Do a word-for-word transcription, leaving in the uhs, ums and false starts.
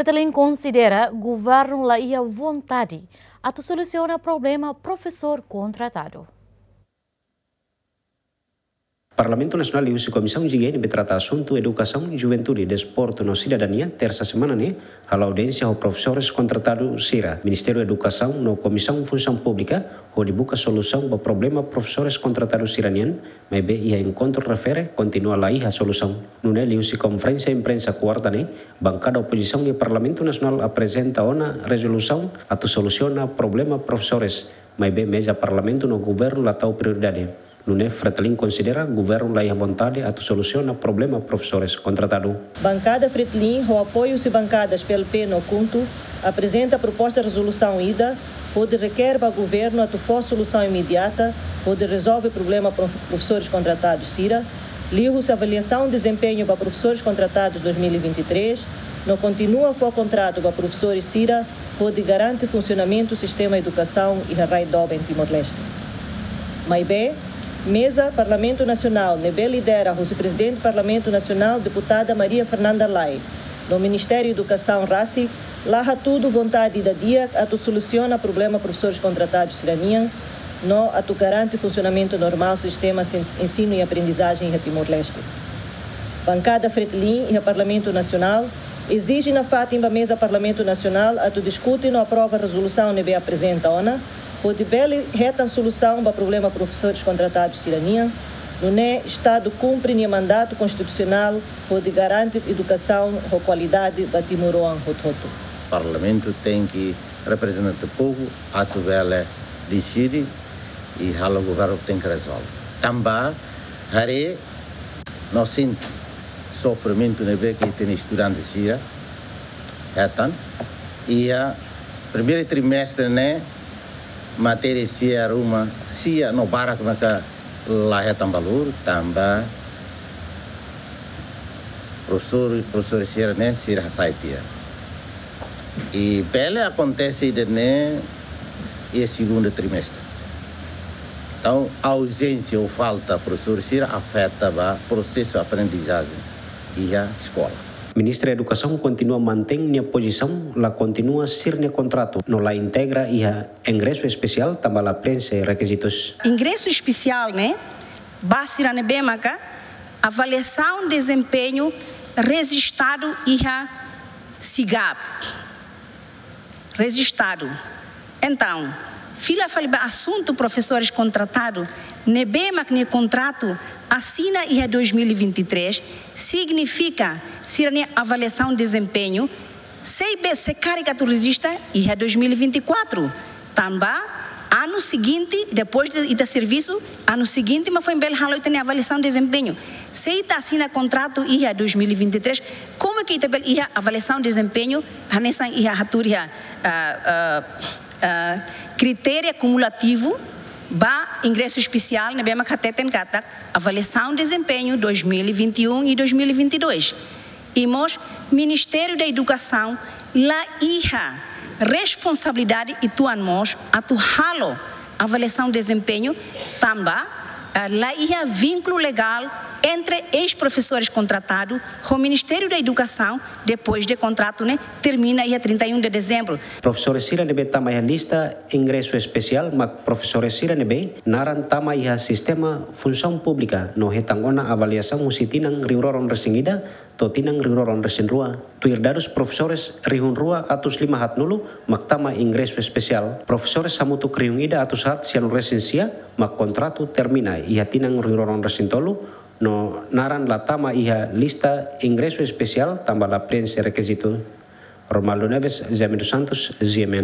Fretilin konsidera governu la iha vontade atu solusiona problema profesór kontratadu. Parlamentu Nasionál liuhusi Komisaun G N B trata asuntu edukasaun, juventude, desportu no sidadania, tersa semana ne'e, halo audiénsia ho profesores kontratadu sira. Ministériu Edukasaun no Komisaun Funsaun Públika hodi buka solusaun ba problema profesores kontratadu sira-nian, maibé iha enkontru refere kontinua la iha solusaun. Nune'e liuhusi konferénsia imprensa kuarta ne'e, bankada opozisaun iha Parlamentu Nasionál aprezenta ona rezolusaun atu solusiona problema profesores, maibé meza Parlamentu no governu la tau prioridade. Nune'e Fretilin konsidera governu la iha vontade atu solusiona problema profesores kontratadu. Bankada Fretilin, ho apoiu husi bankadas P L P no KHUNTO, aprezenta proposta rezolusaun ida hodi reker ba governu atu fó solusaun imediata hodi rezolve problema prof-, profesores kontratadus sira, liuhusi avaliasaun dezempeñu ba profesores kontratadus dois mil e vinte e três, no kontinua fó kontratu ba profesores sira hodi garante funsionamentu sistema edukasaun iha rai doben Timor-Leste. Maibé, meza Parlamentu Nasionál ne'ebé lidera husi Prezidente Parlamentu Nasionál, Deputada Maria Fernanda Lay, no Ministériu Edukasaun rasik la hatudu vontade ida di'ak atu solusiona problema profesores kontratadus sira-nian, no atu garante funsionamentu normál sistema sen-, ensinu i aprendizajen iha Timor-Leste. Bankada Fretilin iha Parlamentu Nasionál ezije nafatin ba meza Parlamentu Nasionál atu diskute no aprova rezolusaun ne'ebé aprezenta ona, hodi bele hetan solusaun ba problema profesores kontratadus sira-nian, nune'e Estadu kumpre nia mandatu konstitusionál hodi garante edukasaun ho kualidade ba timoroan hotu-hotu. Parlamentu tenke reprezenta povu atu bele deside i halo governu tenke rezolve. Tanba haree no sente sofrimentu ne'ebé ke ita-nia estudante sira hetan. Iha primeiru trimestre ne'e, matéria sira ruma sia no barak maka la hetan valór, tanba profesór, profesór sira-ne'e sira hasai tiha. I bele akontese ida-ne'e iha segundu trimestre. Entaun, auzénsia ou falta profesór sira afeta ba prosesu aprendizajen iha eskola. Ministra Edukasaun kontinua mantein nia pozisaun, la kontinua sira-nia kontratu, no la integra iha ingresu espesiál tanba la prenxe rekizitus. Ingresu espesiál ne'e ba sira ne'ebé maka avaliasaun dezempeñu rejistadu iha SIGAP. Rejistadu. Entaun, fila fali ba asuntu profesores kontratadu, ne'ebé mak nia kontratu asina iha dois mil e vinte e três, signifika sira-nia avaliasaun dezempeñu sei be, sei karik atu rejista iha dois mil e vinte e quatro. Tanba anu seguinte, depois de ita servisu, anu seguinte mak foin bele halo ita-nia avaliasaun dezempeñu. Se ita asina kontratu iha dois mil e vinte e três, como é que ita bele iha avaliasaun dezempeñu, hanesan ita hatudu iha, ah, ah, ah, kritéria kumulativu ba ingresu espesiál, ne'ebé mak hateten katak avaliasaun dezempeñu dois mil e vinte e um e dois mil e vinte e dois. I mós Ministériu da Edukasaun la iha responsabilidade uitoan mós atu halo avaliasaun dezempeñu tanba, eh, la iha vínkulu legál entre eis-profesores kontratadu ho Ministériu da Edukasaun depois de kontratu ne'e termina iha trinta e um de dezembro. Profesores sira ne'ebé tama iha lista ingresu espesiál mak profesores sira ne'ebé naran tama iha sistema funsaun públika no hetan ona avaliasaun husi tinan rihun rua ruanulu-resin-ida to'o tinan rihun rua ruanulu-resin-rua. Tuir dadus profesores rihun rua atus lima haatnulu mak tama ingresu espesiál. Profesores hamutuk rihun ida atus haat sianulu-resin-sia mak kontratu termina iha tinan rihun rua ruanulu-resin-tolu no naran la tama iha lista ingresu espesiál tanba la prenxe rekizitu. Romualdo Neves, José Mendes Santos, G M N.